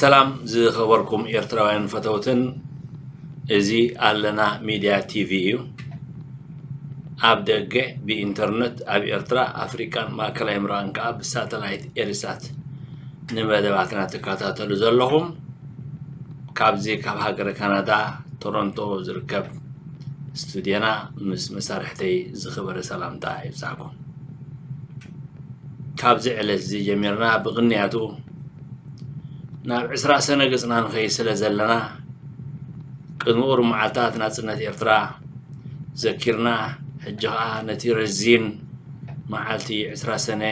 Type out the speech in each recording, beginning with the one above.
ሰላም ዝኸበርኩም ኤርትራውያን ፈተውትን፣ እዚ ኣለና ሚድያ ቲቪ እዩ። ኣብ ደገ ብኢንተርነት ኣብ ኤርትራ፣ ኣፍሪቃን ማእከላይ ምብራቕን ከኣ ብሳተላይት ኤሪሳት ንመደባትና ትከታተሉ ዘለኹም፣ ካብዚ ካብ ሃገረ ካናዳ ቶሮንቶ ዝርከብ ስቱድዮና ምስ መሳርሕተይ ዝኸበረ ሰላምታ ይብጻሕኩም። ካብዚ ዕለት እዚ ጀሚርና ብቕንያቱ ናብ ዕስራ ሰነ ገጽና ንኸይድ ስለ ዘለና፣ ቅድሚ ቁሩብ መዓልታት ናጽነት ኤርትራ ዘኪርና፣ ሕጂ ኸኣ ነቲ ረዚን መዓልቲ ዕስራ ሰነ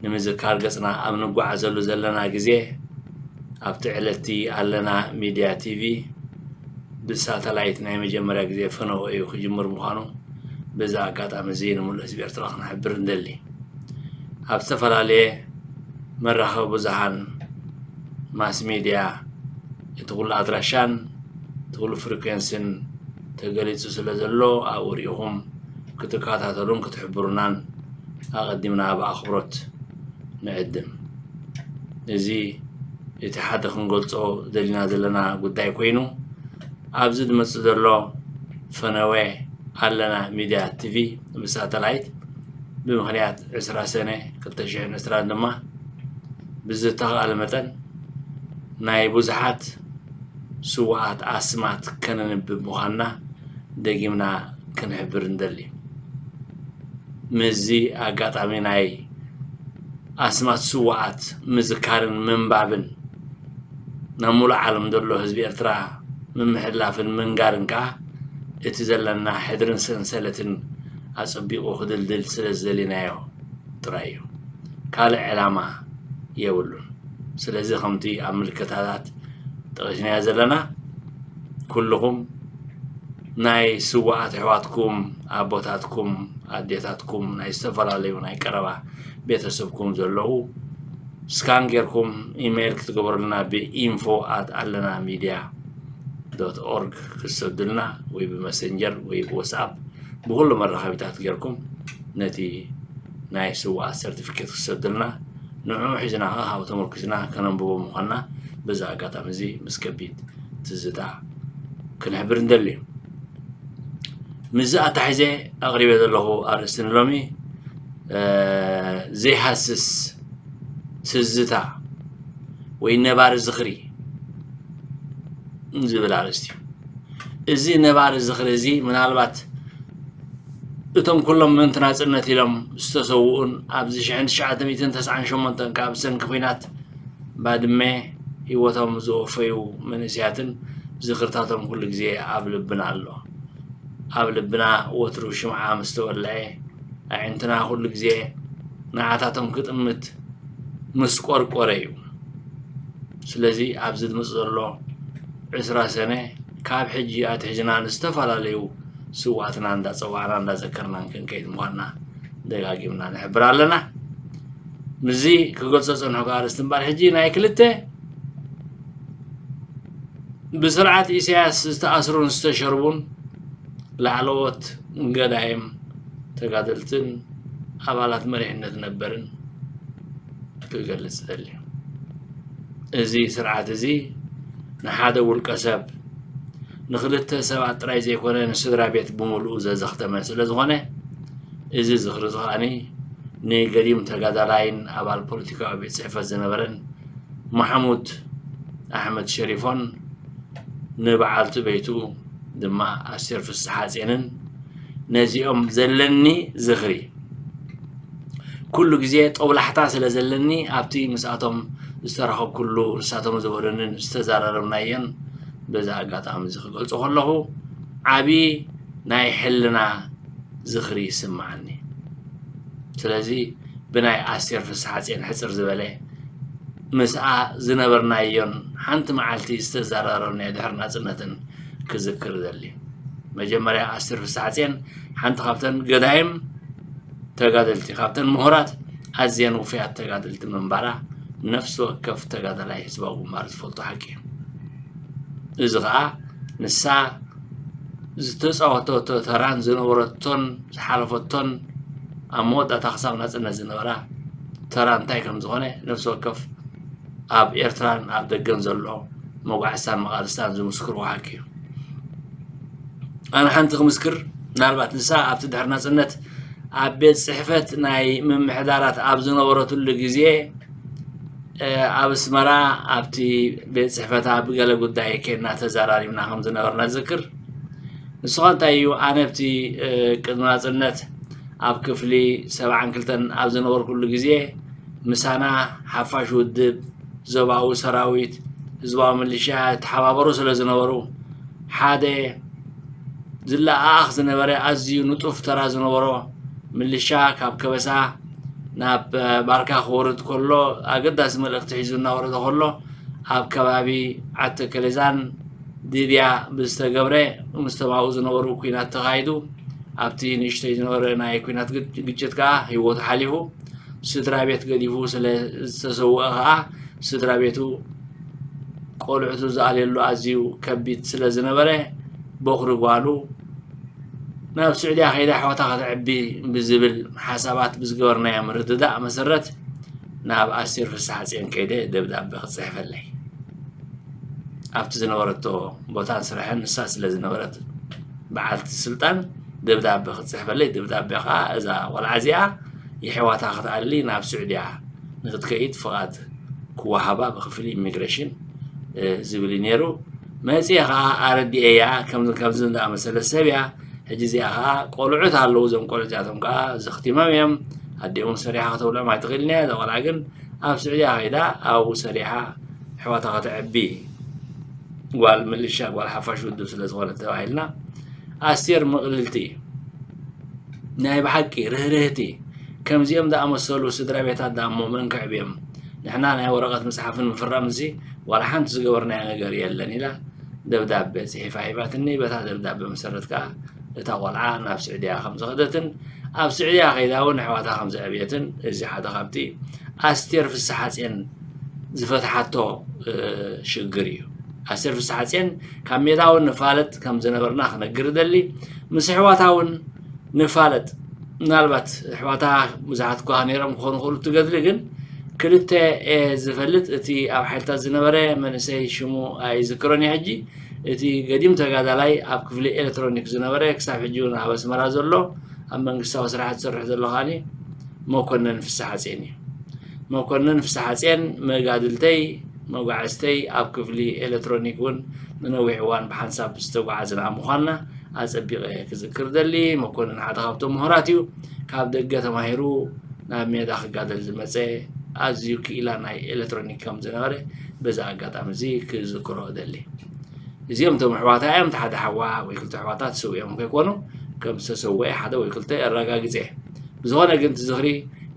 ንምዝካር ገጽና ኣብ ንጓዓዘሉ ዘለና ግዜ፣ ኣብቲ ዕለትቲ ኣለና ሚድያ ቲቪ ብሳተላይት ናይ መጀመርያ ግዜ ፈነወ እዩ ክጅምር ምዃኑ በዚ ኣጋጣሚ እዚ ንምሉእ ህዝቢ ኤርትራ ክንሕብር ንደሊ። ኣብ ዝተፈላለየ መራኸቢ ብዙሃን፣ ማስ ሚድያ፣ እቲ ኩሉ ኣድራሻን እቲ ኩሉ ፍሪኩዌንስን ተገሊጹ ስለ ዘሎ፣ ኣብኡ ርኢኹም ክትከታተሉን ክትሕብሩናን ኣቐዲምና ብኣኽብሮት ንዕድም። እዚ እቲ ሓደ ክንገልጾ ደሊና ዘለና ጉዳይ ኮይኑ፣ ኣብዚ ዝመጽእ ዘሎ ፈነወ ኣለና ሚድያ ቲቪ ብሳተላይት ብምኽንያት ዕስራ ሰነ ክልተ ሽሕን ዕስራን ድማ ብዝተኻእለ መጠን ናይ ብዙሓት ስዉኣት ኣስማት ከነንብብ ምዃንና ደጊምና ክንሕብር ንደሊ። ምስዚ ኣጋጣሚ ናይ ኣስማት ስዉኣት ምዝካርን ምንባብን ናብ ሙሉእ ዓለም ዘሎ ህዝቢ ኤርትራ ምምሕልላፍን ምንጋርን ከኣ እቲ ዘለና ሕድርን ሰንሰለትን ኣጸቢቑ ክድልድል ስለ ዝደሊናዮ ጥራይ እዩ። ካልእ ዕላማ የብሉን። ስለዚ ከምቲ ኣብ ምልክታታት ጠቒስናዮ ዘለና፣ ኩልኹም ናይ ስዉኣት ኣሕዋትኩም፣ ኣቦታትኩም፣ ኣዴታትኩም፣ ናይ ዝተፈላለዩ ናይ ቀረባ ቤተሰብኩም ዘለዉ ስካን ጌርኩም ኢሜይል ክትገብሩልና ብኢንፎ ኣት ኣለና ሚድያ ዶት ኦርግ ክትሰዱልና ወይ ብመሰንጀር ወይ ብዋትስኣፕ ብኹሉ መራኸቢታት ጌርኩም ነቲ ናይ ስዉኣት ሰርቲፊኬት ክትሰዱልና ንዕኡ ሒዝና ኸኣ ካብኡ ተመርኩስና ከነንብቦ ምዃንና በዚ ኣጋጣሚ እዚ ምስ ከቢድ ትዝታ ክንሕብር ንደሊ። ምስዚ ኣታሒዘ ኣቕሪበ ዘለኹ ኣርእስቲ ንሎሚ ዘይሃስስ ትዝታ ወይ ነባሪ ዝኽሪ ዝብል ኣርእስቲ እዩ። እዚ ነባሪ ዝኽሪ እዚ ምናልባት እቶም ኩሎም ምእንቲ ናጽነት ኢሎም ዝተሰውኡን ኣብዚ ሽሕን ትሽዓተ ሚእትን ተስዓን ሸሞንተን ካብ ብሰንኪ ኲናት ባድመ ህይወቶም ዝወፈዩ መንእሰያትን ዝኽርታቶም ኩሉ ግዜ ኣብ ልብና ኣሎ። ኣብ ልብና ወትሩ ሽምዓ ምስ ተወልዐ፣ ኣዒንትና ኩሉ ግዜ ንዓታቶም ክጥምት ምስ ቆርቆረ እዩ። ስለዚ ኣብዚ ዝመጽእ ዘሎ ዕስራ ሰነ ካብ ሕጂ ኣትሒዝና ንዝተፈላለዩ ስውኣትና እንዳጸዋዕና እንዳዘከርናን ክንከይድ ምዃንና ደጋጊምና ንሕብር ኣለና። ምስዚ ክገልጾ ዝጸንሕኩ ኣርእስቲ እምበኣር ሕጂ ናይ ክልተ ብስርዓት ኢሳያስ ዝተኣስሩን ዝተሸርቡን ላዕለዎት ገዳይም ተጋደልትን ኣባላት መሪሕነት ነበርን ክገልጽ እደሊ። እዚ ስርዓት እዚ ንሓደ ውልቀ ሰብ፣ ንኽልተ ሰባት ጥራይ ዘይኮነ ንስድራ ቤት ብምሉኡ ዘዘኽተመ ስለ ዝኾነ፣ እዚ ዝኽሪ እዚ ከኣ ንገዲም ተጋዳላይን ኣባል ፖለቲካዊ ቤት ጽሕፈት ዝነበረን ማሕሙድ ኣሕመድ ሸሪፎን ንበዓልቲ ቤቱ ድማ ኣስቴር ፍስሓጼንን ነዚኦም ዘለኒ ዝኽሪ ኩሉ ግዜ ጦብላሕታ ስለ ዘለኒ ኣብቲ ምስኣቶም ዝተራኸብኩሉ ንሳቶም ዝበሉንን ዝተዘራረብናዮን በዚ ኣጋጣሚ እዚ ክገልጾ ከለኹ ዓቢ ናይ ሕልና ዝኽሪ ይስምዓኒ። ስለዚ ብናይ ኣስቴር ፍስሓጼን ሕጽር ዝበለ ምስኣ ዝነበርናዮን ሓንቲ መዓልቲ ዝተዘራረብናዮ ድሕሪ ናጽነትን ክዝክር እደሊ። መጀመርያ ኣስቴር ፍስሓጼን ሓንቲ ካብተን ገዳይም ተጋደልቲ፣ ካብተን ምሁራት ኣዝየን ውፉያት ተጋደልቲ ምንባራ ነፍሲ ወከፍ ተጋዳላይ ህዝባዊ ግንባር ዝፈልጦ ሓቂ እዩ። እዚ ኸኣ ንሳ ዝተጻወተቶ ተራን ዝነበረቶን ዝሓለፈቶን ኣብ መወዳእታ ክሳብ ናጽነት ዝነበራ ተራ እንታይ ከም ዝኾነ ነፍሲ ወከፍ ኣብ ኤርትራን ኣብ ደገን ዘሎ መጓዕዝታን መቓልስታን ዝምስክርዎ ሓቂ እዩ። ኣነ ሓንቲ ክምስክር፣ ምናልባት ንሳ ኣብቲ ድሕሪ ናጽነት ኣብ ቤት ጽሕፈት ናይ ምምሕዳራት ኣብ ዝነበረትሉ ግዜ ኣብ ኣስመራ ኣብቲ ቤት ጽሕፈታ ብገለ ጉዳይ ኬድና ተዘራሪብና ከም ዝነበርና ዝዝክር። ንስኻ እንታይ እዩ? ኣነ ኣብቲ ቅድሚ ናጽነት ኣብ ክፍሊ ሰብዓን ክልተን ኣብ ዝነበርኩሉ ግዜ ምሳና ሓፋሽ ውድብ፣ ዞባዊ ሰራዊት፣ ህዝባዊ ምልሻ ይተሓባበሩ ስለ ዝነበሩ ሓደ ዝለኣኣኽ ዝነበረ ኣዝዩ ንጡፍ ተራ ዝነበሮ ምልሻ ካብ ከበሳ ናብ ባርካ ክወርድ ከሎ ኣገዳሲ መልእኽቲ ሒዙ እናወረደ ከሎ ኣብ ከባቢ ዓዲ ከለዛን ድብያ ብዝተገብረ ምስ ተማኡ ዝነበሩ ኲናት ተኻይዱ ኣብቲ ንእሽተይ ዝነበረ ናይ ኲናት ግጭት ከዓ ህይወቱ ሓሊፉ ስድራ ቤት ገዲፉ ስለ ዝተሰውአ ከዓ ስድራ ቤቱ ቆልዑቱ ዝኣልየሉ ኣዝዩ ከቢድ ስለ ዝነበረ በኹሪ ጓሉ ናብ ስዑድያ ከይዳ ኣሕዋታ ከተዕቢ ብዝብል ሓሳባት ብዝገበርናዮ ምርድዳእ መሰረት ናብ ኣስቴር ፍስሓጽዮን ከይደ ደብዳቤ ክጽሕፈለይ ኣብቲ ዝነበረቶ ቦታን ስራሕን ንሳ ስለ ዝነበረት በዓልቲ ስልጣን ደብዳቤ ክጽሕፈለይ ደብዳቤ ከዓ እዛ ቆልዓ እዚኣ የሕዋታ ክትኣሊ ናብ ስዑድያ ንክትከይድ ፍቓድ ክወሃባ ብክፍሊ ኢሚግሬሽን ዝብል እዩ ነይሩ። መፅየ ከዓ ኣረዲኤያ ከምዚ ከምዚ እንዳኣመሰለ ሰብ እያ። ሕጂ እዚኣ ከዓ ቆልዑት ኣለዉ። እዞም ቆልዑ እዚኣቶም ከዓ ዘኽቲሞም እዮም። ኣዲኦም ሰሪሓ ከተብልዖም ኣይትኽእልን እያ። እዛ ቆልዓ ግን ኣብ ስዑድያ ከይዳ ኣብኡ ሰሪሓ ኣሕዋታ ከተዕቢ ጓል ምልሻ ጓል ሓፋሽ ውድብ ስለ ዝኾነት ተባሂልና ኣስቴር ምቕልልቲ ናይ ብሓቂ ርህርህቲ ከምዚኦም ዝኣመሰሉ ስድራ ቤታት ዳሞ መን ከዕብዮም ንሕና ናይ ወረቐት ምፅሓፍን ምፍራም እዚ ዋላ ሓንቲ ዝገበርናዮ ነገር የለን ኢላ ደብዳቤ ፅሒፋ ሂባትኒ በታ ደብዳቤ መሰረት ከዓ እታ ቆልዓ ናብ ስዕድያ ከም ዝኸደትን ኣብ ስዕድያ ከይዳ እውን ኣሕዋታ ከም ዘዕብየትን እዚ ሓደ ካብቲ ኣስቴር ፍስሓፅዮን ዝፈትሓቶ ሽግር እዩ። ኣስቴር ፍስሓፅዮን ካብ ሜዳ እውን ንፋለጥ ከም ዝነበርና ክነግር እደሊ። ምስ ኣሕዋታ እውን ንፋለጥ። ምናልባት ኣሕዋታ ብዙሓት እኳ ነይሮም ክኾኑ ይኽእሉ እቲ ገድሊ ግን ክልተ እየ ዝፈልጥ። እቲ ኣብ ሓይልታት ዝነበረ መንእሰይ ሽሙ ኣይዝክሮን እየ ሕጂ። እቲ ገዲም ተጋዳላይ ኣብ ክፍሊ ኤሌክትሮኒክ ዝነበረ ክሳብ ሕጂ እውን ኣብ ኣስመራ ዘሎ ኣብ መንግስታዊ ስራሕ ዝሰርሕ ዘሎ ከዓኒ መኮነን ፍስሓፅዮን እዩ። መኮነን ፍስሓፅዮን መጋድልተይ መጓዕዝተይ ኣብ ክፍሊ ኤሌክትሮኒክ እውን ንነዊሕ እዋን ብሓንሳብ ዝተጓዓዝና ምዃንና ኣፀቢቐ ክዝክር ደሊ። መኮነን ሓደ ካብቶም ምሁራት እዩ። ካብ ደገ ተማሂሩ ናብ ሜዳ ክጋደል ዝመፀ ኣዝዩ ክኢላ ናይ ኤሌክትሮኒክ ከም ዝነበረ በዚ ኣጋጣሚ እዚ ክዝክሮ እደሊ። እዚኦም እቶም ኣሕዋታ እዮም። እቲ ሓደ ሓዋ ወይ ክልተ ኣሕዋታ ተሰዊኦም ከይኮኑ ከም ዝተሰወአ ሓደ ወይ ክልተ ኣረጋግፀ። ብዝኾነ ግን እቲ ዝኽሪ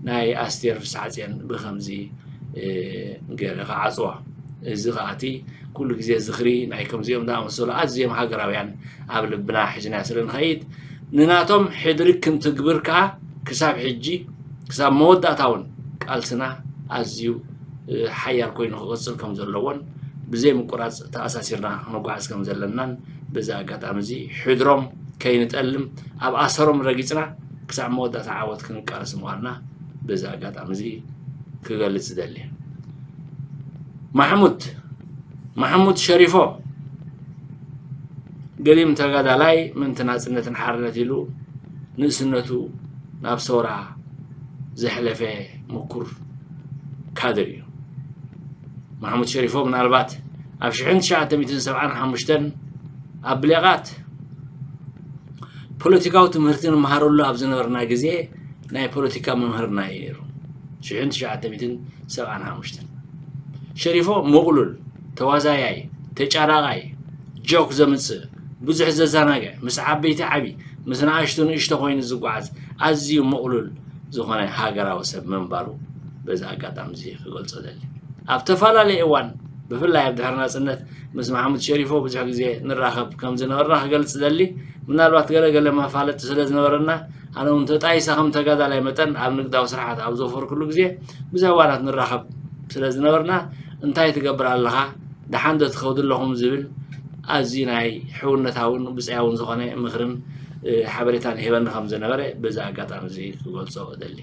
ናይ ኣስቴር ፍስሓፅዮን ብከምዚ ገይረ ክዓፅዋ። እዚ ከዓ እቲ ኩሉ ግዜ ዝኽሪ ናይ ከምዚኦም ዝኣመሰሉ ኣዝዮም ሃገራውያን ኣብ ልብና ሒዝና ስለ ንኸይድ ንናቶም ሕድሪ ክንትግብር ከዓ ክሳብ ሕጂ ክሳብ መወዳእታ እውን ቃልስና ኣዝዩ ሓያል ኮይኑ ክቕፅል ከም ዘለዎን ብዘይ ምቁራፅ ተኣሳሲርና ክንጓዓዝ ከም ዘለናን በዚ ኣጋጣሚ እዚ ሕድሮም ከይንጠልም ኣብ ኣሰሮም ረጊፅና ክሳብ መወዳእታ ዓወት ክንቃለስ ምዃንና በዚ ኣጋጣሚ እዚ ክገልፅ ይደሊ። ማሕሙድ ማሕሙድ ሸሪፎ ገዲም ተጋዳላይ ምእንቲ ናፅነትን ሓርነት ኢሉ ንእስነቱ ናብ ሰውራ ዘሕለፈ ምኩር ካድር እዩ። ማሕሙድ ሸሪፎ ምናልባት ኣብ ሽሕን ትሽዓተ ሚእትን ሰብዓን ሓሙሽተን ኣብ ብሌቓት ፖለቲካዊ ትምህርቲ ንመሃረሉ ኣብ ዝነበርና ግዜ ናይ ፖለቲካ መምህርና እዩ ነይሩ። ሽሕን ትሽዓተ ሚእትን ሰብዓን ሓሙሽተን ሸሪፎ ምቕሉል ተዋዛያይ ተጫራቓይ ጆክ ዘምፅእ ብዙሕ ዘዘናግዕ ምስ ዓበይቲ ዓቢ ምስ ንኣሽቱ ንእሽቶ ኮይኑ ዝጓዓዝ ኣዝዩ ምቕሉል ዝኾነ ሃገራዊ ሰብ ምንባሩ በዚ ኣጋጣሚ እዚ ክገልፆ ደሊ። ኣብ ተፈላለየ እዋን ብፍላይ ኣብ ድሕሪ ናፅነት ምስ ማሕሙድ ሸሪፎ ብዙሕ ግዜ ንራኸብ ከም ዝነበርና ክገልፅ ደሊ። ምናልባት ገለ ገለ መፋለጢ ስለ ዝነበረና ኣነ እውን ተጣይሰ ከም ተጋዳላይ መጠን ኣብ ንግዳዊ ስራሓት ኣብ ዘፈርኩሉ ግዜ ብዙሕ እዋናት ንራኸብ ስለ ዝነበርና እንታይ ትገብር ኣለኻ ደሓን ዶ ትኸዱ ኣለኹም ዝብል ኣዝዩ ናይ ሕውነታውን ብፅያውን ዝኾነ ምኽርን ሓበሬታን ይህበኒ ከም ዝነበረ በዚ ኣጋጣሚ እዚ ክገልፆ እደሊ።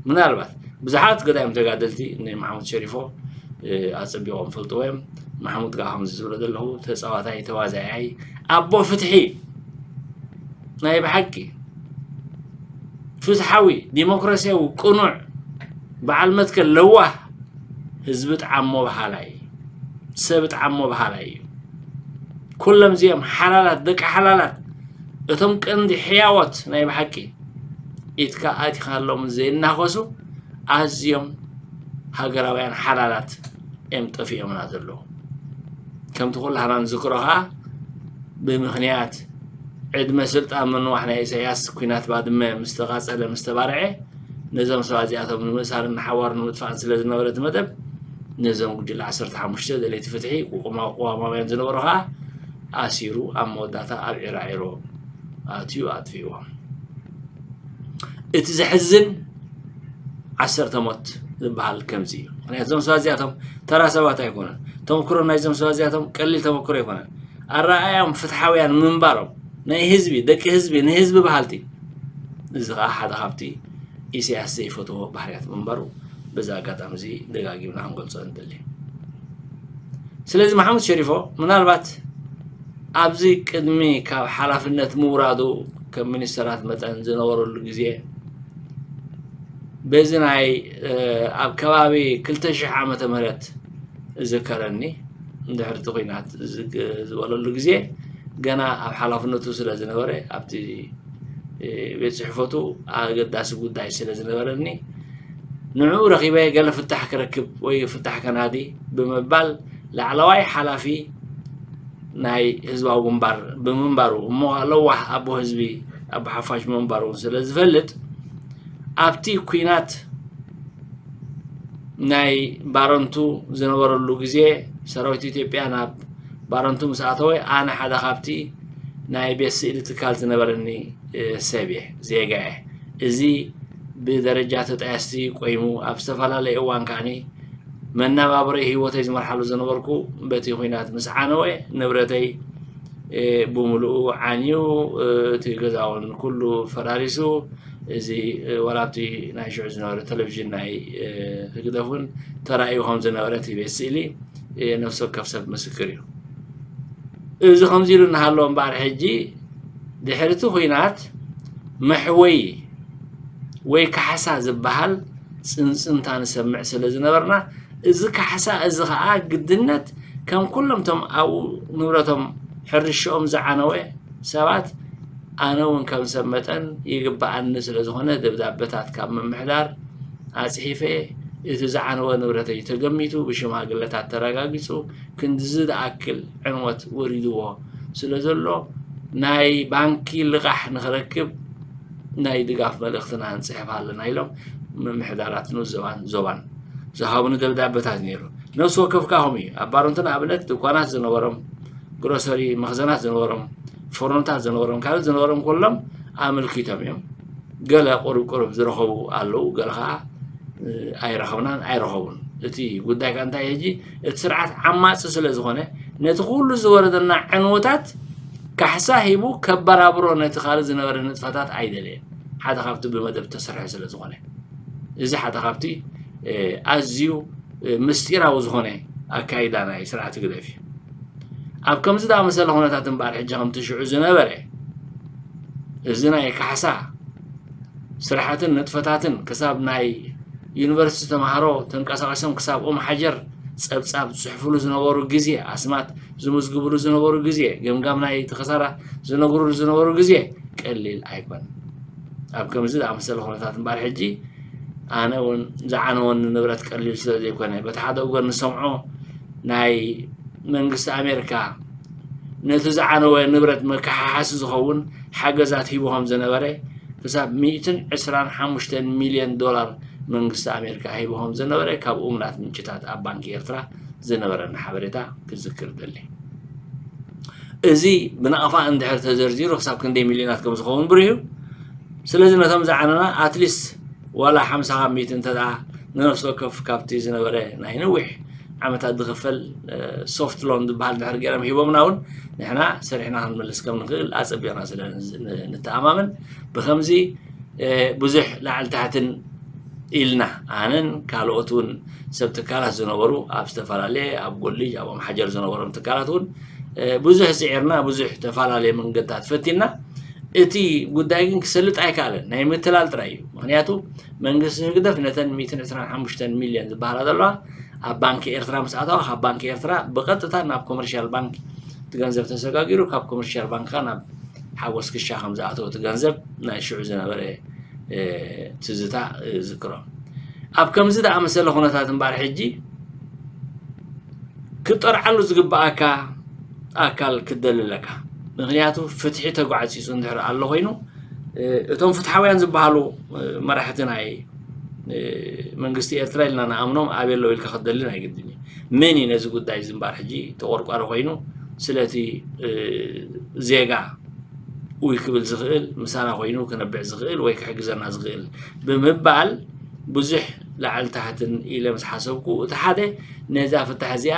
ምናልባት ብዙሓት ገዳይም ተጋደልቲ ንማሕሙድ ሸሪፎ ኣጸቢቖም ፈልጥዎ እዮም። ማሕሙድ ከኣ ከምዚ ዝብሎ ዘለኹ ተጻዋታይ ተዋዛያይ ኣቦ ፍትሒ ናይ ብሓቂ ፍትሓዊ ዲሞክራሲያዊ ቅኑዕ በዓል መትከል ለዋህ ህዝቢ ጣዓሞ በሃላይ ሰብ ጣዓሞ በሃላይ እዩ። ኩሎም እዚኦም ሓላላት ደቂ ሓላላት እቶም ቀንዲ ሕያዎት ናይ ብሓቂ ኢትካ ኣቲኻሎም ዘይናኸሱ ኣዝዮም ሃገራውያን ሓላላት እዮም ጠፊኦምና ዘለዉ። ከምቲ ኩላህና ንዝክሮ ኸዓ ብምኽንያት ዕድመ ስልጣን ምንዋሕ ናይ ኢሳያስ ኲናት ባድመ ምስ ተቓጸለ ምስ ተባርዐ ነዞም ሰባት እዚኣቶም ንምእሳርን ንሓዋሩ ንምጥፋእን ስለ ዝነበረ እቲ መደብ ነዞም ጉጅለ ዓሰርተ ሓሙሽተ ደለይቲ ፍትሒ ቅዋማውያን ዝነበሩ ኸዓ ኣሲሩ ኣብ መወዳእታ ኣብ ዒራዒሮ ኣትዩ ኣጥፊእዎም። እቲ ዘሕዝን ዓሰርተ ሞት ዝበሃል ከምዚ እዩ። ምክንያቱ እዞም ሰባት እዚኣቶም ተራ ሰባት ኣይኮኑን። ተመክሮ ናይዞም ሰባት እዚኣቶም ቀሊል ተመክሮ ኣይኮነን። ኣረኣእያም ፍትሓውያን ምንባሮም ናይ ህዝቢ ደቂ ህዝቢ ንህዝቢ በሃልቲ እዚ ከዓ ሓደ ካብቲ ኢሳያስ ዘይፈትዎ ባህርያት ምንባሩ በዚ ኣጋጣሚ እዚ ደጋጊምና ክንገልጾ ንደሊ። ስለዚ ማሕሙድ ሸሪፎ ምናልባት ኣብዚ ቅድሚ ካብ ሓላፍነት ምውራዱ ከም ሚኒስተራት መጠን ዝነበረሉ ግዜ በዚ ናይ ኣብ ከባቢ ክልተ ሽሕ ዓመተ ምህረት እዝከረኒ እንድሕር እቲ ኲናት ዝበለሉ ግዜ ገና ኣብ ሓላፍነቱ ስለ ዝነበረ ኣብቲ ቤት ጽሕፈቱ ኣገዳሲ ጉዳይ ስለ ዝነበረኒ ንዕኡ ረኺበ ገለ ፍታሕ ክረክብ ወይ ፍታሕ ከናዲ ብምባል ላዕለዋይ ሓላፊ ናይ ህዝባዊ ግንባር ብምንባሩ እሞ ለዋህ ኣቦ ህዝቢ ኣቦ ሓፋሽ ብምንባሩ እውን ስለ ዝፈልጥ ኣብቲ ኲናት ናይ ባረንቱ ዝነበረሉ ግዜ ሰራዊት ኢትዮጵያ ናብ ባረንቱ ምስ ኣተወ ኣነ ሓደ ካብቲ ናይ ቤት ስእሊ ትካል ዝነበረኒ ሰብ እየ ዜጋ እየ እዚ ብደረጃ ተጣየስቲ ቆይሙ ኣብ ዝተፈላለየ እዋን ከዓኒ መናባብረይ ህይወተይ ዝመርሓሉ ዝነበርኩ በቲ ኹናት ምስ ዓነወ ንብረተይ ብምሉኡ ዓንዩ እቲ ገዛውን ኩሉ ፈራሪሱ እዚ ዋላ ኣብቲ ናይ ሽዑ ዝነበረ ቴሌቪዥን ናይ ህግደፍ እውን ተራእዩ ከም ዝነበረ እቲ ቤት ስእሊ ነፍሲ ወከፍ ሰብ ምስክር እዩ። እዚ ከምዚ ኢሉ እናሃለወ እምበኣር ሕጂ ድሕሪ እቲ ኹናት መሕወይ ወይ ካሕሳ ዝበሃል ጽንጽንታ ንሰምዕ ስለ ዝነበርና እዚ ካሕሳ እዚ ኸዓ ግድነት ከም ኩሎም እቶም ኣብኡ ንብረቶም ሕርሽኦም ዝዓነወ ሰባት ኣነ እውን ከም ሰብ መጠን ይግብኣኒ ስለ ዝኾነ ደብዳበታት ካብ ምምሕዳር ኣጽሒፈ እቲ ዝዓነወ ንብረተይ ተገሚቱ ብሽማግለታት ተረጋጊጹ ክንድዚ ዝኣክል ዕንወት ወሪድዎ ስለ ዘሎ ናይ ባንኪ ልቓሕ ንኽረክብ ናይ ድጋፍ መልእኽትና ንጽሕፍ ኣለና ኢሎም ምምሕዳራት ንኡስ ዞባን ዞባን ዝሃቡኒ ደብዳበታት ነይሩ። ነፍሲ ወከፍ ካኹም እዩ ኣብ ባሮንትን ኣብነት ድኳናት ዝነበሮም ግሮሰሪ መኽዘናት ዝነበሮም ፎርኖታት ዝነበሮም ካልእ ዝነበሮም ኩሎም ኣመልኪቶም እዮም። ገለ ቁሩብ ቁሩብ ዝረኸቡ ኣለዉ ገለ ከዓ ኣይረኸብናን ኣይረኸቡን። እቲ ጉዳይ ከዓ እንታይ ሕጂ እቲ ስርዓት ዓማፂ ስለ ዝኾነ ነቲ ኩሉ ዝወረደና ዕንወታት ካሕሳ ሂቡ ከበራብሮ ነቲ ካልእ ዝነበረ ንጥፈታት ኣይደለየን። ሓደ ካብቲ ብመደብ ተሰርሐ ስለ ዝኾነ እዚ ሓደ ካብቲ ኣዝዩ ምስጢራዊ ዝኾነ ኣካይዳ ናይ ስርዓት ህግደፍ እዩ። ኣብ ከምዚ ዝኣመሰለ ኩነታት እምበኣር ሕጂ ከምቲ ሽዑ ዝነበረ እዚ ናይ ካሕሳ ስራሓትን ንጥፈታትን ክሳብ ናይ ዩኒቨርሲቲ ተምሃሮ ተንቀሳቒሶም ክሳብ ኦም ሓጀር ጸብጻብ ዝጽሕፍሉ ዝነበሩ ግዜ ኣስማት ዝምዝግብሉ ዝነበሩ ግዜ ገምጋም ናይ ተኸሳራ ዝነግሩሉ ዝነበሩ ግዜ ቀሊል ኣይኮን። ኣብ ከምዚ ዝኣመሰለ ኩነታት እምበኣር ሕጂ ኣነ እውን ዝዓነወኒ ንብረት ቀሊል ስለ ዘይኮነ በቲ ሓደ ወገን ንሰምዖ ናይ መንግስቲ ኣሜሪካ ነቲ ዝዓነወ ንብረት መከሓሓሲ ዝኸውን ሓገዛት ሂቡ ከም ዝነበረ ክሳብ ሚእትን ዕስራን ሓሙሽተን ሚልዮን ዶላር መንግስቲ ኣሜሪካ ሂቡ ከም ዝነበረ ካብ እሙናት ምንጭታት ኣብ ባንኪ ኤርትራ ዝነበረና ሓበሬታ ክዝክር ደሊ። እዚ ብናቕፋ እንድሕር ተዘርዚሩ ክሳብ ክንደይ ሚልዮናት ከም ዝኸውን ብሩህ እዩ። ስለዚ ነቶም ዝዓነና ኣትሊስት ዋላ ሓምሳ ካብ ሚእቲ እንተ ንነፍሲ ወከፍ ካብቲ ዝነበረ ናይ ነዊሕ ዓመታት ዝኽፈል ሶፍት ሎን ዝበሃል ድሕር ገይሮም ሂቦምና እውን ንሕና ሰሪሕና ክንመልስ ከም ንኽእል ኣፀቢቕና ስለ ንተኣማመን ብከምዚ ብዙሕ ላዕሊ ታሕትን ኢልና ኣነን ካልኦት እውን ሰብ ትካላት ዝነበሩ ኣብ ዝተፈላለየ ኣብ ጎሊጅ ኣብ ኣምሓጀር ዝነበሮም ትካላት እውን ብዙሕ ፅዒርና ብዙሕ ተፈላለየ መንገድታት ፈቲና እቲ ጉዳይ ግን ክሰልጥ ኣይከኣለን። ናይ ምትላል ጥራይ እዩ። ምክንያቱ መንግስቲ ህግደፍ ነተን ሚእትን ዕስራን ሓሙሽተን ሚልዮን ዝበሃላ ዘለዋ ኣብ ባንኪ ኤርትራ ምስ ኣተዋ ካብ ባንኪ ኤርትራ ብቐጥታ ናብ ኮመርሻል ባንክ እቲ ገንዘብ ተሰጋጊሩ ካብ ኮመርሻል ባንክ ናብ ሓጎስ ክሻ ከም ዝኣተወ እቲ ገንዘብ ናይ ሽዑ ዝነበረ ትዝታ ዝክሮ። ኣብ ከምዚ ዝኣመሰለ ኩነታት እምበኣር ሕጂ ክጠርዓሉ ዝግብኣካ ኣካል ክትደሊ ኣለካ። ምክንያቱ ፍትሒ ተጓዕፂፁ እንድሕር ኣሎ ኮይኑ እቶም ፍትሓውያን ዝበሃሉ መራሕቲ ናይ መንግስቲ ኤርትራ ኢልና ንኣምኖም ኣበይ ኣለዉ ኢልካ ክትደሊ ናይ ግድን እዩ። መን እዩ ነዚ ጉዳይ እዚ እምበኣር ሕጂ ተቆርቋሪ ኮይኑ ስለቲ ዜጋ ውይ ክብል ዝኽእል ምሳና ኮይኑ ክነብዕ ዝኽእል ወይ ክሕግዘና ዝኽእል ብምባል ብዙሕ ላዕሊ ታሕትን ኢለ ምስ ሓሰብኩ እቲ ሓደ ነዛ ፍታሕ እዚኣ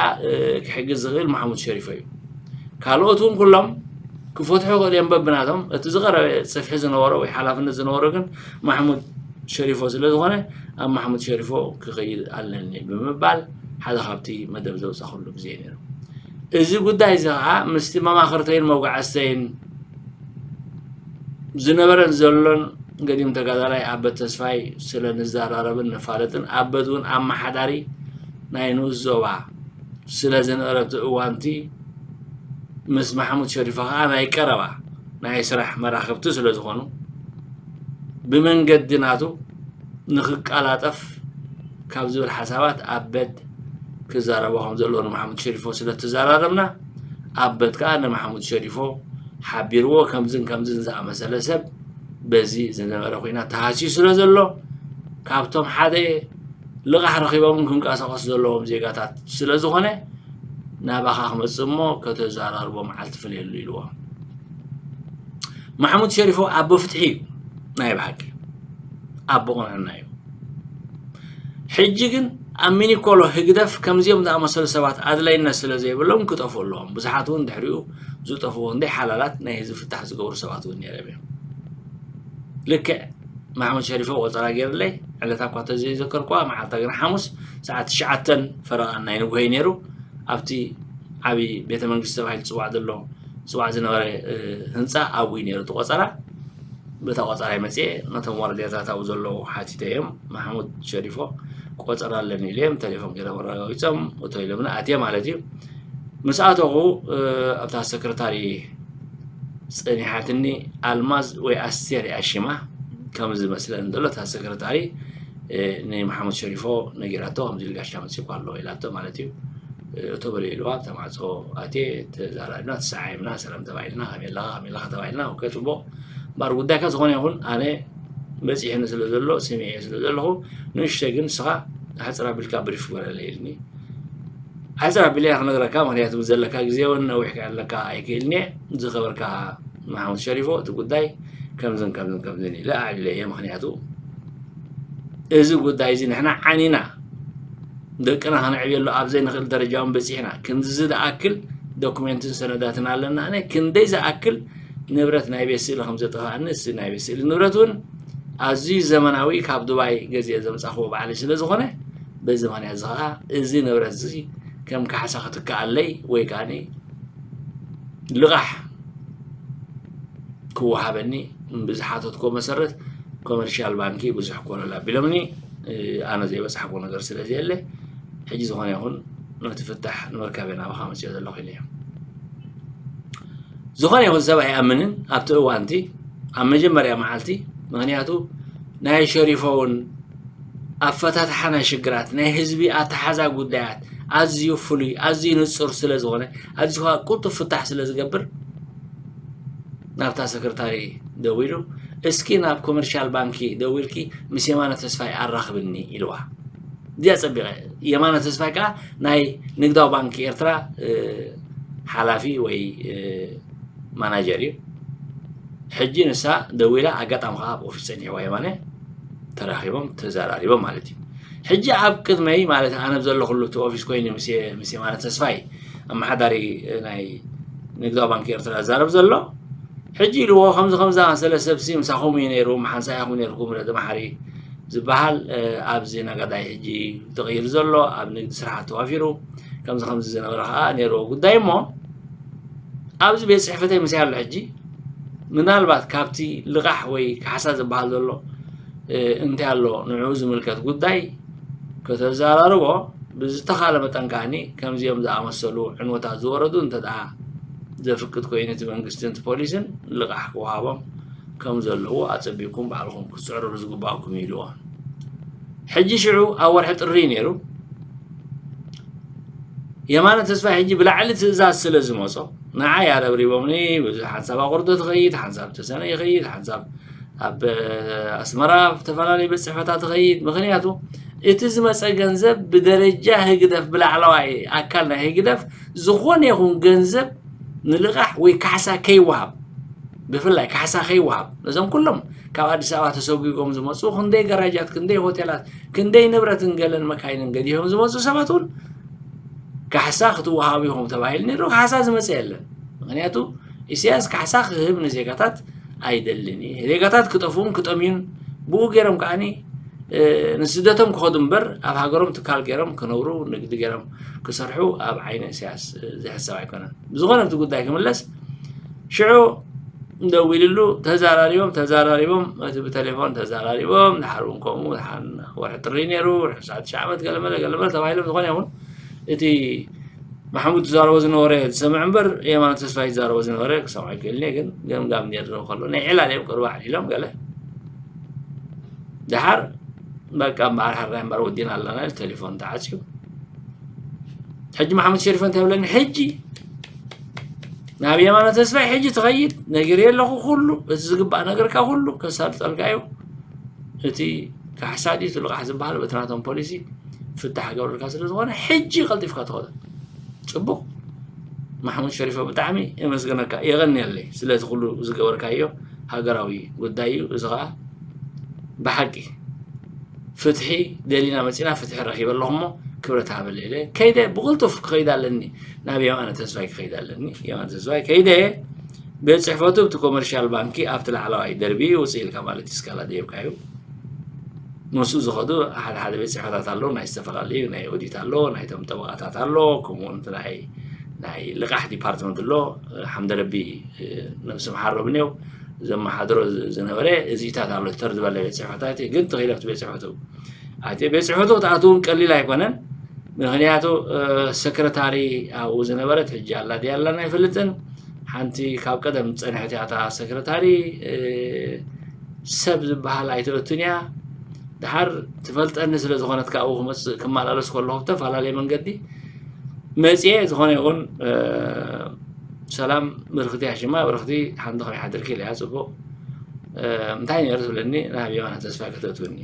ክሕግዝ ዝኽእል ማሕሙድ ሸሪፎ እዩ። ካልኦት እውን ኩሎም ክፈትሑ ክእል እዮም በብናቶም። እቲ ዝቐረበ ጽፍሒ ዝነበሮ ወይ ሓላፍነት ዝነበሮ ግን ማሕሙድ ሸሪፎ ስለ ዝኾነ ኣብ ማሕሙድ ሸሪፎ ክኸይድ ኣለኒ ብምባል ሓደ ካብቲ መደብ ዘውጻእኩሉ ግዜ ነይሩ። እዚ ጉዳይ እዚ ከዓ ምስቲ መማኽርተይን መጓዓዝተይን ዝነበረን ዘሎን ገዲም ተጋዳላይ ኣበት ተስፋይ ስለ ንዘራረብን ንፋለጥን ኣበት እውን ኣመሓዳሪ ናይ ንኡስ ዞባ ስለ ዝነበረ እቲ እዋንቲ ምስ ማሕሙድ ሸሪፎ ከዓ ናይ ቀረባ ናይ ስራሕ መራኽብቲ ስለ ዝኾኑ ብመንገዲ ናቱ ንክቀላጠፍ ካብ ዝብል ሓሳባት ኣበድ ክዛረቦ ከም ዘለዎ ንማሕሙድ ሸሪፎ ስለ ተዘራረብና ኣበድ ከዓ ንማሕሙድ ሸሪፎ ሓቢርዎ ከምዝን ከምዝን ዝኣመሰለ ሰብ በዚ ዝነበረ ኩናት ተሃስዩ ስለ ዘሎ ካብቶም ሓደ ልቓሕ ረኺቦምን ክንቀሳቐሱ ዘለዎም ዜጋታት ስለ ዝኾነ ናባኻ ክመፅእ እሞ ከተዘራርቦ መዓልቲ ፍለየሉ ኢልዎ። ማሕሙድ ሸሪፎ ኣቦ ፍትሒ እዩ ናይ ብሓቂ ኣቦ ቅንዕና እዩ። ሕጂ ግን ኣብ ሚኒኮሎ ህግደፍ ከምዚኦም ዝኣመሰሉ ሰባት ኣድላይነት ስለ ዘይብሎም ክጠፍኡ ኣለዎም። ብዙሓት እውን ድሕሪኡ ዝጠፍኡ እንደ ሓላላት ናይ ህዝቢ ፍታሕ ዝገብሩ ሰባት እውን ነይሮም እዮም። ልክዕ ማሕሙድ ሸሪፎ ቆፀራ ገይርለይ ዕለታ እኳ ተዘይዘከርኩዋ መዓልታ ግን ሓሙስ ሰዓት ትሽዓተን ፈረቓን ናይ ንጉሆ እዩ ነይሩ። ኣብቲ ዓብዪ ቤተ መንግስቲ ተባሂሉ ዝፅዋዕ ዘሎ ዝፅዋዕ ዝነበረ ህንፃ ኣብኡ እዩ ነይሩ እቲ ቆፀራ። በታ ቆፀራይ መፅየ ነቶም ወረዳታት ኣብኡ ዘለዉ ሓቲተ እዮም ማሕሙድ ሸሪፎ ቆፀራ ኣለኒ ኢለ እዮም ተሌፎን ገይሮም ኣረጋጊፆም እቶ ኢሎምና ኣትየ ማለት እዩ። ምስ ኣተኹ ኣብታ ሰክረታሪ ፀኒሓትኒ ኣልማዝ ወይ ኣስቴር እያ ሽማ ከም ዝመስለኒ ዘሎ እታ ሰክረታሪ ንማሓሙድ ሸሪፎ ነጊራቶ ከምዚ ኢሉ ጋሻ መፂእኳ ኣሎ ኢላቶ ማለት እዩ። እቶ በለ ኢልዋ ኣብታ ማዕፆ ኣትየ ተዛራሪብና ተሰዓዒምና ሰላም ተባሂልና ከመይ ኣለኻ ከመይ ኣለኻ ተባሂልና ኦኬ ፅቡቕ እምበኣር ጉዳይካ ዝኾነ ይኹን ኣነ በፂሕኒ ስለ ዘሎ ስሚዐ ስለ ዘለኹ ንእሽተይ ግን ንስኻ ኣሕፅር ኣቢልካ ብሪፍ ግበረለይ ኢልኒ። ኣሕፅር ኣቢለ እየ ክነግረካ ምክንያቱ ዘለካ ግዜ እውን ነዊሕ ክዕለካ ኣይክእልን እየ። ዝኸበርካ ማሓሙድ ሸሪፎ እቲ ጉዳይ ከምዝን ከምዝን ከምዝን ኢለ ኣዕሊለ እየ ምክንያቱ እዚ ጉዳይ እዚ ንሕና ዓኒና ደቅና ከነዕብየሉ ኣብ ዘይንኽእል ደረጃ እውን በፂሕና ክንድዚ ዝኣክል ዶኩሜንትን ሰነዳትን ኣለና ኣነ ክንደይ ዝኣክል ንብረት ናይ ቤት ስእሊ ከም ዘጠፋእኒ እዚ ናይ ቤት ስእሊ ንብረት እውን ኣዝዩ ዘመናዊ ካብ ዱባይ ገዚአ ዘምፃኽዎ ባዕለይ ስለ ዝኾነ በዚ ምክንያት እዚ ከዓ እዚ ንብረት እዚ ከም ካሕሳ ክትከኣለይ ወይ ከዓ ልቓሕ ክወሃበኒ ብዝሓተትኮ መሰረት ኮመርሻል ባንኪ ብዙሕ ኮለል ኣቢሎምኒ ኣነ ዘይበፃሕኮ ነገር ስለ ዘየለ ሕጂ ዝኾነ ይኹን ነቲ ፍታሕ ንምርካብ እየ ናባኻ መፅኦ ዘለኹ ኢለ እዮም። ዝኾነ ይኹን ሰብ ኣይኣምንን ኣብቲ እዋንቲ ኣብ መጀመርያ መዓልቲ ምክንያቱ ናይ ሸሪፎ እውን ኣፈታትሓ ናይ ሽግራት ናይ ህዝቢ ኣተሓዛ ጉዳያት ኣዝዩ ፍሉይ ኣዝዩ ንፁር ስለ ዝኾነ ኣዝዩ ከዓ ቁልጡፍ ፍታሕ ስለ ዝገብር ናብታ ሰክርታሪ ደዊሉ እስኪ ናብ ኮመርሻል ባንኪ ደዊልኪ ምስ የማነ ተስፋይ ኣራኽብኒ ኢልዋ። እዚኣ ፀቢቐ የማነ ተስፋይ ከዓ ናይ ንግዳዊ ባንኪ ኤርትራ ሓላፊ ወይ ማናጀር እዩ። ሕጂ ንሳ ደዊላ ኣጋጣሚ ከዓ ኣብ ኦፊስ ፀኒሕዋ የማነ ተራኺቦም ተዘራሪቦም ማለት እዩ። ሕጂ ኣብ ቅድመይ ማለት ኣነ ዘለኩሉ እቲ ኦፊስ ኮይኑ ምስ የማነ ተስፋይ ኣመሓዳሪ ናይ ንግዳዊ ባንኪ ኤርትራ ዝዛረብ ዘሎ ሕጂ ኢልዎ ከምዚ ከምዚ ኣመሰለ ሰብሲ ምሳኹም እዩ ነይሩ ምሓንሳ ኢኹም ነይርኩም ረዲ መሓሪ ዝበሃል ኣብዚ ነጋዳይ ሕጂ ተቐይሩ ዘሎ ኣብ ንግዲ ስራሓት ተዋፊሩ ከምዚ ከምዚ ዝነበረ ከዓ ነይርዎ ጉዳይ እሞ ኣብዚ ቤት ፅሕፈተይ ምስ ኣሎ ሕጂ ምናልባት ካብቲ ልቓሕ ወይ ካሕሳ ዝበሃል ዘሎ እንታይ ኣሎ ንዕኡ ዝምልከት ጉዳይ ከተዘራርቦ ብዝተኻለ መጠን ከዓኒ ከምዚኦም ዝኣመሰሉ ዕንወታት ዝወረዱ እንተ ደኣ ዘፍቅድ ኮይኑ እቲ መንግስትን እቲ ፖሊስን ልቓሕ ክወሃቦም ከም ዘለዎ ኣጸቢቕኩም ባዕልኹም ክትጽዕርሩ ዝግባእኩም እዩ ኢልዎ። ሕጂ ሽዑ ኣብ ወርሒ ጥሪ ነይሩ። የማነ ተስፋይ ሕጂ ብላዕሊ ትእዛዝ ስለ ዝመጾ ንዓይ ኣረብሪቦምኒ ብዙሕ ሓንሳብ ኣቑርዶ ትኸይድ ሓንሳብ ተሰነ ይኸይድ ሓንሳብ ኣብ ኣስመራ ኣብ ዝተፈላለዩ ቤት ፅሕፈታት ትኸይድ ምክንያቱ እቲ ዝመፀ ገንዘብ ብደረጃ ህግደፍ ብላዕለዋይ ኣካል ናይ ህግደፍ ዝኾነ ይኹን ገንዘብ ንልቓሕ ወይ ካሕሳ ከይወሃብ ብፍላይ ካሕሳ ከይወሃብ ነዞም ኩሎም ካብ ኣዲስ ኣበባ ተሰጒጎም ዝመፁ ክንደይ ገራጃት ክንደይ ሆቴላት ክንደይ ንብረትን ገለን መካይንን ገዲፎም ዝመፁ ሰባት እውን ካሕሳ ክትወሃቡ ኢኹም ተባሂሉ ነይሩ ካሕሳ ዝመፀ የለን ምክንያቱ ኢሳያስ ካሕሳ ክህብ ንዜጋታት ኣይደልን እዩ ዜጋታት ክጠፍኡን ክጠምዩን ብኡ ገይሮም ከዓኒ ንስደቶም ክኸዱ እምበር ኣብ ሃገሮም ትካል ገይሮም ክነብሩ ንግዲ ገይሮም ክሰርሑ ኣብ ዓይኒ ኢሳያስ ዝሕሰብ ኣይኮነን ብዝኾነ እቲ ጉዳይ ክምለስ ሽዑ ደዊልሉ ተዛራሪቦም ተዛራሪቦም እቲ ብቴሌፎን ተዛራሪቦም ድሓር እውን ከምኡ ድሓር ወርሒ ጥሪ ነይሩ ወርሒ ሰዓት ትሽዓ ዓመት ገለመለ ገለመለ ተባሂሎም ዝኾነ ይኹን እቲ ማሕሙድ ዝዛረቦ ዝነበረ ዝሰምዕ እምበር የማነ ተስፋይ ዝዛረቦ ዝነበረ ክሰምዖ ይክእልኒ ግን ገምጋም ነይሩ ከሎ ናይ ዕላል እዮም ቅርባ ዓሊሎም ገለ ድሓር በቃ እምበኣር ሓራይ እምበኣር ወዲና ኣለና ኢሉ ቴሌፎን ተዓፅዩ ሕጂ ማሕሙድ ሸሪፎ እንታይ ይብለኒ ሕጂ ናብ የማነ ተስፋይ ሕጂ ትኸይድ ነጊረ ኣለኹ ኩሉ እቲ ዝግባእ ነገርካ ኩሉ ከሳልጠልካ እዩ እቲ ካሕሳ ድዩ እቲ ልቓሕ ዝበሃል በቲ ናቶም ፖሊሲ ፍታሕ ገብርልካ ስለ ዝኾነ ሕጂ ቀልጢፍካ ትኸዶ ፅቡቕ ማሕሙድ ሸሪፎ ብጣዕሚ የመስግነካ የቐንየለይ ስለዚ ኩሉ ዝገበርካዮ ሃገራዊ ጉዳይ እዩ እዚ ከዓ ብሓቂ ፍትሒ ደሊና መፂና ፍትሒ ረኺበ ኣለኹ እሞ ክብረት ሃበለይ ኢለ ከይደ ብቕልጡፍ ክኸይድ ኣለኒ ናብ የማነ ተስፋይ ክኸይድ ኣለኒ የማነ ተስፋይ ከይደ ቤት ፅሕፈቱ ኣብቲ ኮመርሻል ባንኪ ኣብቲ ላዕለዋይ ደርቢ ውፅእ ኢልካ ማለት እዩ ስካላ ደየብካ እዩ ምስኡ ዝኸዱ ሓደ ሓደ ቤት ፅሕፈታት ኣለዉ ናይ ዝተፈላለዩ ናይ ኦዲት ኣሎ ናይቶም ጠበቓታት ኣሎ ከምኡውን ናይ ናይ ልቓሕ ዲፓርትመንት ኣሎ ሓምደረቢ ነብሲ መሓሮም እኒው ዘመሓድሮ ዝነበረ እዚታት ኣሎ ተር ዝበለ ቤት ፅሕፈታት ግን ተኺለ ኣብቲ ቤት ፅሕፈቱ ኣብቲ ቤት ፅሕፈቱ ክትኣትውን ቀሊል ኣይኮነን ምክንያቱ ሰክረታሪ ኣብኡ ዝነበረት ሕጂ ኣላ ድያ ኣላን ኣይፈልጥን ሓንቲ ካብ ቀደም ዝፀንሐት እያ እታ ሰክረታሪ ሰብ ዝበሃል ኣይተእቱን እያ ድሓር ትፈልጠኒ ስለ ዝኾነት ካብኡ ክመፅእ ክመላለስ ከለኹ ብተፈላለየ መንገዲ መፅየ ዝኾነ ይኹን ሰላም ብርክቲ ያሽማ ብርክቲ ሓንቲ ከመይ ሓድርኪ ኢለያ ፅቡቕ እንታይ ነይሩ ትብለኒ ናብ የማነ ተስፋይ ከተእትውኒ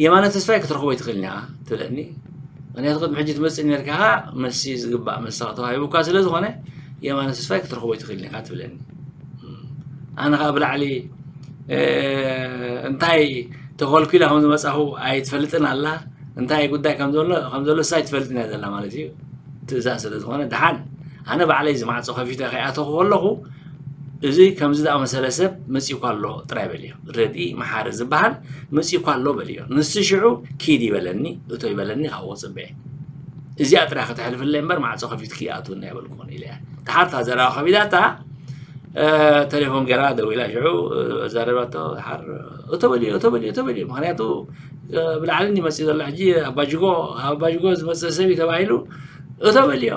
የማነ ተስፋይ ክትረኽቦ ይትኽእል እኒኣ ትብለኒ ምክንያቱ ቅድሚ ሕጂ ትመፅእ ነርካ መሲ ዝግባእ መሳቕ ተዋሂቡካ ስለ ዝኾነ የማነ ተስፋይ ክትረኽቦ ይትኽእል እኒኣ ትብለኒ ኣነ ከዓ ብላዕሊ እንታይ ተኾልኩላ ከም ዝመፃኹ ኣይትፈልጥን ኣላ እንታይ ጉዳይ ከም ዘሎ ከም ዘሎ እሳ ኣይትፈልጥን እያ ዘላ ማለት እዩ ትእዛዝ ስለ ዝኾነ ድሓን ኣነ ባዕለይ ዝማዕፆ ከፊተ ከይኣተኹ ከለኹ እዚ ከምዚ ዝኣመሰለ ሰብ መፂእኳ ኣሎ ጥራይ በልዮ ረድኢ መሓሪ ዝበሃል መፂእኳ ኣሎ በልዮ ንሱ ሽዑ ኪድ ይበለኒ እቶ ይበለኒ ካብኡ ፅበየ እዚኣ ጥራይ ከተሕልፍለይ እምበር ማዕፆ ከፊትኪ ኣትውና ይበልኩን ኢለ እያ ተሓርታ ዘረባ ከቢዳታ ተሌፎን ገይራ ደዊላ ሽዑ ዛረባቶ ሓር እቶ በልዮ እቶ በልዮ እቶ በልዮ ምክንያቱ ብላዕሊ እንዲ መፅእ ዘሎ ሕጂ ኣባጅጎ ኣባጅጎ ዝመፅእ ሰብ እዩ ተባሂሉ እቶ በልዮ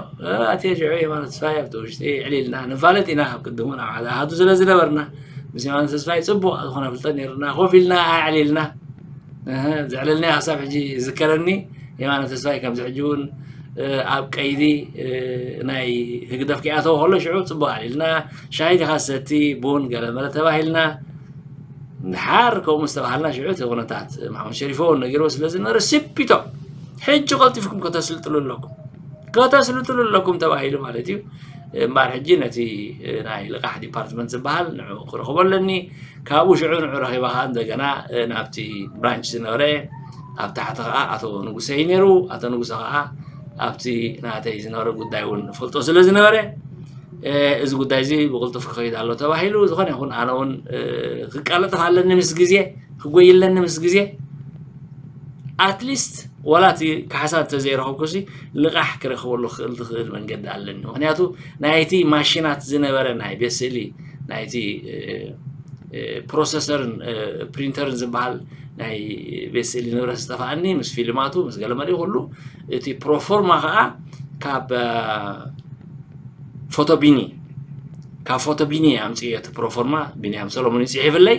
ኣትየ ሽዑ የማነ ተስፋይ ኣብቲ ውሽጢ ዕሊልና ንፋለጥ ኢና ኣብ ቅድሙ ናብ ሓደ ኣሃዱ ስለ ዝነበርና ምስ የማነ ተስፋይ ፅቡቅ ዝኾነ ፍልጠት ነይርና ኮፍ ኢልና ኣዕሊልና ዘዕለልናዮ ክሳብ ሕጂ ይዝከረኒ የማነ ተስፋይ ከምዚ ሕጂ እውን ኣብ ቀይዲ ናይ ህግደፍ ክኣተው ከሎ ሽዑ ፅቡቅ ኣዕሊልና ሻሂ ዲኻ ሰቲ ቡን ገለመለ ተባሂልና ድሓር ከምኡ ዝተባሃልና ሽዑ እቲ ኩነታት ማሕሙድ ሸሪፎ እውን ነጊርዎ ስለ ዝነበረ ስፒቶ ሕጂ ቀልጢፍኩም ከተስልጥሉ ኣለኩም ከተስልጥሉ ኣለኩም ተባሂሉ ማለት እዩ እምበኣር ሕጂ ነቲ ናይ ልቓሕ ዲፓርትመንት ዝበሃል ንዑ ክረኽቦ ኣለኒ ካብኡ ሽዑ ንዑ ረኺባ ከዓ እንደገና ናብቲ ብራንች ዝነበረ ኣብ ታሕቲ ከዓ ኣቶ ንጉሰ እዩ ነይሩ ኣቶ ንጉሰ ከዓ ኣብቲ ናተይ ዝነበረ ጉዳይ እውን ፈልጦ ስለ ዝነበረ እዚ ጉዳይ እዚ ብቕልጡፍ ክኸይድ ኣሎ ተባሂሉ ዝኾነ ይኹን ኣነ እውን ክቃለጠፍ ኣለኒ ምስ ግዜ ክጎይለኒ ምስ ግዜ ኣትሊስት ዋላ እቲ ካሕሳ እንተዘይረኸብኩሲ ልቓሕ ክረኽበሉ ክኽእል ዝኽእል መንገዲ ኣለኒ። ምክንያቱ ናይቲ ማሽናት ዝነበረ ናይ ቤት ስእሊ ናይቲ ፕሮሰሰርን ፕሪንተርን ዝበሃል ናይ ቤት ስእሊ ንብረት ዝጠፋኣኒ ምስ ፊልማቱ ምስ ገለመሊኡ ኩሉ እቲ ፕሮፎርማ ከዓ ካብ ፎቶቢኒ ካብ ፎቶቢኒ ኣምፅዮ እቲ ፕሮፎርማ ቢንያም ሰሎሞን ይፅሒፍለይ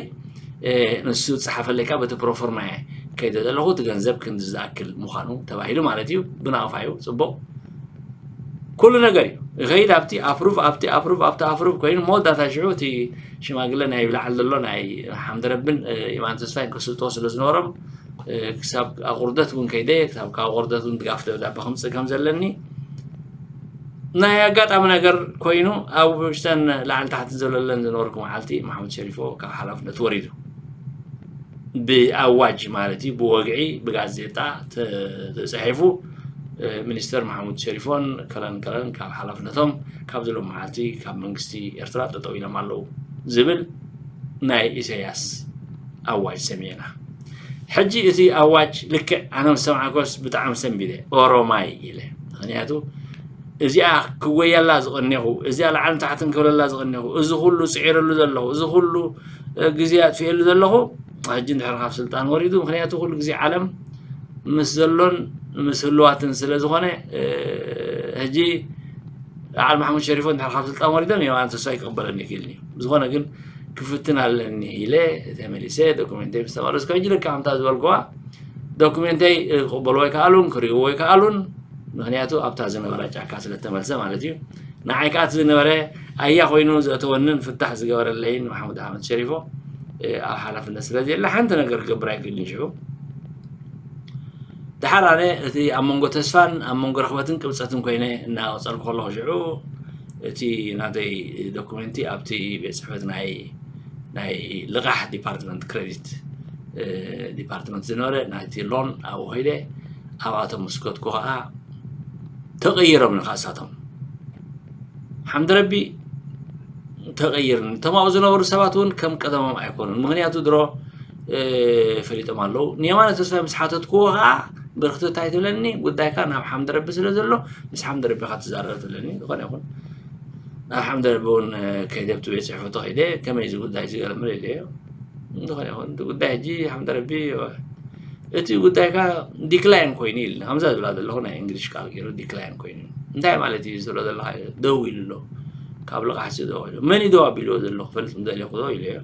ንሱ ዝፀሓፈለይ ካብ እቲ ፕሮፎርማ እየ ከይደ ዘለኹ እቲ ገንዘብ ክንዲ ዝኣክል ምዃኑ ተባሂሉ ማለት እዩ ብናቕፋ እዩ ፅቡቕ ኩሉ ነገር እዩ ይኸይድ ኣብቲ ኣፕሩቭ ኣብቲ ኣፕሩቭ ኣብቲ ኣፕሩቭ ኮይኑ መወዳእታ ሽዑ እቲ ሽማግለ ናይ ብላዕሊ ዘሎ ናይ ሓምደረብን የማን ተስፋይን ክስልጥዎ ስለ ዝነበሮም ክሳብ ኣቑርደት እውን ከይደ ክሳብ ካብ ኣቑርደት እውን ድጋፍ ደብዳቤ ከምፅእ ከም ዘለኒ ናይ ኣጋጣሚ ነገር ኮይኑ ኣብ ውሽተን ላዕሊ ታሕቲ ዘለለን ዝነበርኩ መዓልቲ ማሕሙድ ሸሪፎ ካብ ሓላፍነት ወሪዱ ብኣዋጅ ማለት እዩ ብወግዒ ብጋዜጣ ተፃሒፉ ሚኒስተር ማሕሙድ ሸሪፎን ከለን ከለን ካብ ሓላፍነቶም ካብ ዝሎም መዓልቲ ካብ መንግስቲ ኤርትራ ጠጠው ኢሎም ኣለዉ ዝብል ናይ ኢሳያስ ኣዋጅ ሰሚዕና ሕጂ እቲ ኣዋጅ ልክዕ ኣነ ምስ ሰማዕኮስ ብጣዕሚ ሰንቢደ ኦሮማይ ኢለ ምክንያቱ እዚኣ ክወያላ ዝቐኔኹ እዚኣ ላዕልን ታሕትን ክብለላ ዝቐኔኹ እዚ ኩሉ ፅዒረሉ ዘለኹ እዚ ኩሉ ግዜ ኣጥፍኤሉ ዘለኹ ሕጂ እንድሕር ካብ ስልጣን ወሪዱ ምክንያቱ ኩሉ ግዜ ዓለም ምስ ዘሎን ምስ ህልዋትን ስለ ዝኾነ ሕጂ በዓል ማሕሙድ ሸሪፎ እንድሕር ካብ ስልጣን ወሪዶም የማነ ተስፋይ ክቕበለኒ ይክእልኒ ብዝኾነ ግን ክፍትን ኣለኒ ኢለ ተመሊሰ ዶኩሜንተይ ምስ ተመለስኩ ሕጂ ልካ ከምታ ዝበልኩዋ ዶኩሜንተይ ክቕበልዎ ኣይከኣሉን ክርእይዎ ኣይከኣሉን ምክንያቱ ኣብታ ዝነበረ ጫካ ስለ ተመልሰ ማለት እዩ ንዓይ ከዓ እቲ ዝነበረ ኣያ ኮይኑ ዘእተወንን ፍታሕ ዝገበረለይን ማሕሙድ ኣሕመድ ሸሪፎ ኣብ ሓላፍነት ስለ ዘየለ ሓንቲ ነገር ክገብር ኣይክእልን ሽዑ ድሓር ኣነ እቲ ኣብ መንጎ ተስፋን ኣብ መንጎ ረኽበትን ቅብፀትን ኮይነ እናቐፀልኩ ከለኹ ሽዑ እቲ ናተይ ዶኩመንቲ ኣብቲ ቤት ፅሕፈት ናይ ናይ ልቓሕ ዲፓርትመንት ክሬዲት ዲፓርትመንት ዝነበረ ናይቲ ሎን ኣብኡ ከይደ ኣብኣቶም ምስ ከድኩ ከዓ ተቐይሮም ንካሳቶም ሓምድ ረቢ ተቐይርኒ እቶም ኣብኡ ዝነበሩ ሰባት እውን ከም ቀደሞም ኣይኮኑን ምክንያቱ ድሮ ፈሊጦም ኣለዉ ንየማነ ተስፋይ ምስ ሓተትክዎ ከዓ ብርክቲ እንታይ ትብለኒ ጉዳይካ ናብ ሓምድ ረቢ ስለ ዘሎ ምስ ሓምድ ረቢካ ትዛረብ ትብለኒ ዝኾነ ይኹን ናብ ሓምድ ረቢ እውን ከይደብቲ ቤት ፅሕፈቱ ከይደ ከመይ እዚ ጉዳይ እዚ ገለምል ኢለዮ ዝኾነ ይኹን እቲ ጉዳይ ሕጂ ሓምድ ረቢ እቲ ጉዳይካ ዲክላይን ኮይኑ ኢልና ከምዛ ዝብላ ዘለኹ ናይ እንግሊሽ ቃል ገይሩ ዲክላይን ኮይኑ እንታይ ማለት እዩ ዝብሎ ዘለካ ደው ኢሉ ኣሎ ካብ ልቓሕሲ ደው ኢሉ መን እዩ ደው ኣቢልዎ ዘሎ ክፈልጥ ምደለኹ ዶ ኢለዮ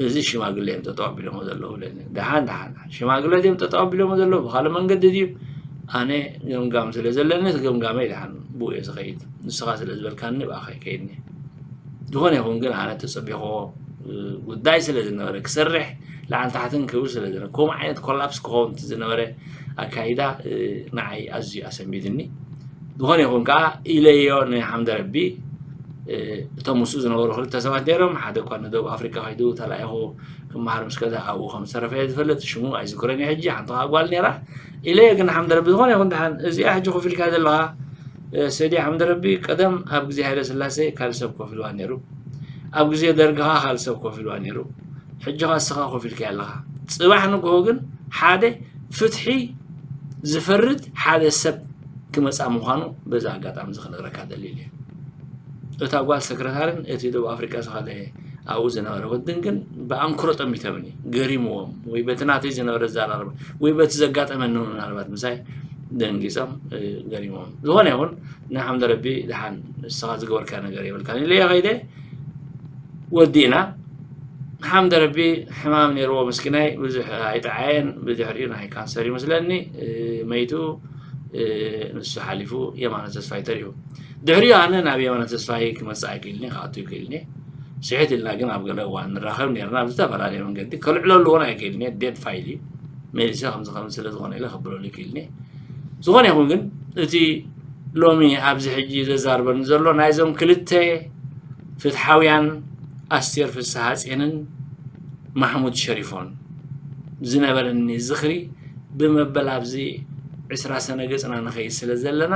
እዚ ሽማግለ እዮም ጠጠው ኣቢሎሞ ዘለዉ ኢለኒ ደሓን ደሓን ሽማግለ ድዮም ጠጠው ኣቢሎሞ ዘለዉ ብካልእ መንገዲ ድዩ ኣነ ገምጋም ስለ ዘለኒ እቲ ገምጋመይ ደሓን ብኡ እየ ዝኸይድ ንስኻ ስለ ዝበልካኒ ብኣኻ ይከይድኒ ዝኾነ ይኹን ግን ኣነ ተፀቢኾ ጉዳይ ስለ ዝነበረ ክሰርሕ ላዕሊ ታሕትን ክብል ስለ ዝነበረ ከምኡ ዓይነት ኮላፕስ ክኸውን ዝነበረ ኣካይዳ ንዓይ ኣዝዩ ኣሰንቢድኒ ዝኾነ ይኹን ከዓ ኢለዮ ንሓምደ ረቢ እቶም ምስኡ ዝነበሩ ክልተ ሰባት ነይሮም ሓደ እኳ ንደቡብ ኣፍሪካ ከይዱ ተላኢኹ ክመሃር ምስ ከደ ኣብኡ ከም ዝተረፈ ዝፈልጥ ሽሙ ኣይዝክረን ሕጂ ሓንቲ ከዓ ጓል ነይራ ኢለዮ ግን ሓምደ ረቢ ዝኾነ ይኹን ደሓን እዚኣ ሕጂ ኮፍ ኢልካ ዘለኻ ሰዲ ሓምደ ረቢ ቀደም ኣብ ግዜ ሃይለ ስላሴ ካልእ ሰብ ኮፍ ኢልዋ ነይሩ ኣብ ግዜ ደርግኻ ካልእ ሰብ ኮፍ ኢልዋ ነይሩ ሕጂ ኸ እስኻ ኮፍ ኢልካ ኣለኻ ጽባሕ ንግሆ ግን ሓደ ፍትሒ ዝፈርድ ሓደ ሰብ ክመጻ ምዃኑ በዚ ኣጋጣሚ እዚ ክነግረካ ደሊል እየ እታ ጓል ሰክረታርን እቲ ደቡብ ኣፍሪቃ ዝኸደ ኣብኡ ዝነበረ ወድን ግን ብኣንክሮ ጠሚቶምኒ ገሪምዎም ወይ በቲ ናተይ ዝነበረ ዘራርባ ወይ በቲ ዘጋጠመኒ ምናልባት ምሳይ ደንጊጾም ገሪሞም ዝኾነ ይኹን ንሓምደ ረቢ ድሓን ንስኻ ዝገበርካ ነገር የብልካ ኢለዮ ከይደ ወዲእና ሓምደ ረቢ ሕማም ነይርዎ ምስኪናይ ብዙሕ ኣይጠዓየን ብድሕሪኡ ናይ ካንሰር ይመስለኒ መይቱ ንሱ ሓሊፉ የማነ ተስፋይ ተሪፉ ድሕሪኡ ኣነ ናብ የማነ ተስፋይ ክመፅእ ኣይክእልኒ ክኣቱ ይክእልኒ ስሕት ኢልና ግን ኣብ ገለ እዋን ንራኸብ ነርና ብዝተፈላለየ መንገዲ ከልዕለሉ እውን ኣይክእልኒ ዴድ ፋይል እዩ መሊሰ ከምዚ ከም ስለ ዝኾነ ኢለ ከብለሉ ይክእልኒ ዝኾነ ይኹን ግን እቲ ሎሚ ኣብዚ ሕጂ ዘዛርበኒ ዘሎ ናይዞም ክልተ ፍትሓውያን ኣስቴር ፍስሃፅየንን ማሕሙድ ሸሪፎን ዝነበረኒ ዝኽሪ ብመበል ኣብዚ ዕስራ ሰነ ገፅና ንኸይድ ስለ ዘለና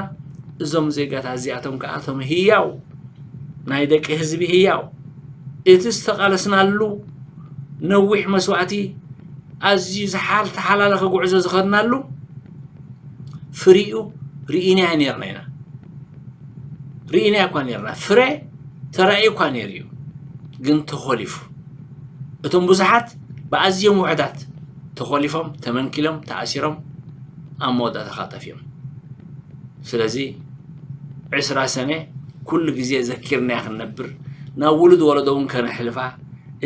እዞም ዜጋታት እዚኣቶም ከዓ እቶም ህያው ናይ ደቂ ህዝቢ ህያው እቲ ዝተቓለስናሉ ነዊሕ መስዋእቲ ኣዝዩ ዝሓል ተሓላለኸ ጉዕዞ ዝኸድናሉ ፍሪኡ ርኢናዮ ኔርና ኢና። ርኢናዮ እኳ ኔርና፣ ፍረ ተራእዩ እኳ ኔሩ እዩ፣ ግን ተኾሊፉ። እቶም ብዙሓት ብኣዝዮም ውሑዳት ተኾሊፎም፣ ተመንኪሎም፣ ተኣሲሮም፣ ኣብ መወዳእታ ኸዓ ጠፊኦም። ስለዚ ዕስራ ሰነ ኩሉ ግዜ ዘኪርናያ ክንነብር፣ ናብ ውሉድ ወለዶ እውን ከነሕልፋ፣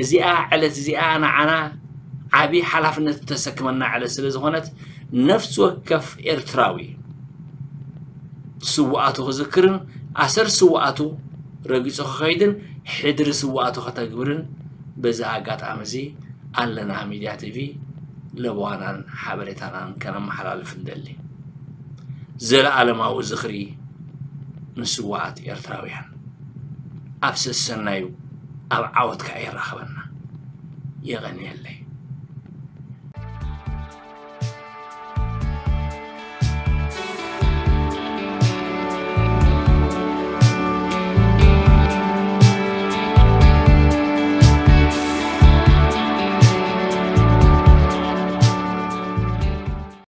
እዚኣ ዕለት እዚኣ ንዓና ዓቢ ሓላፍነት እተሰክመና ዕለት ስለ ዝኾነት፣ ነፍሲ ወከፍ ኤርትራዊ ስውኣቱ ክዝክርን ኣሰር ስውኣቱ ረጊጹ ክኸይድን ሕድሪ ስውኣቱ ከተግብርን በዚ ኣጋጣሚ እዚ ኣለና ሚድያ ቲቪ ለበዋናን ሓበሬታናን ከነመሓላልፍ ንደሊ። ዘለኣለማዊ ዝኽሪ ንስውኣት ኤርትራውያን። ኣብ ሰሰናዩ ኣብ ዓወትካ የራኽበና። የቐንየለይ።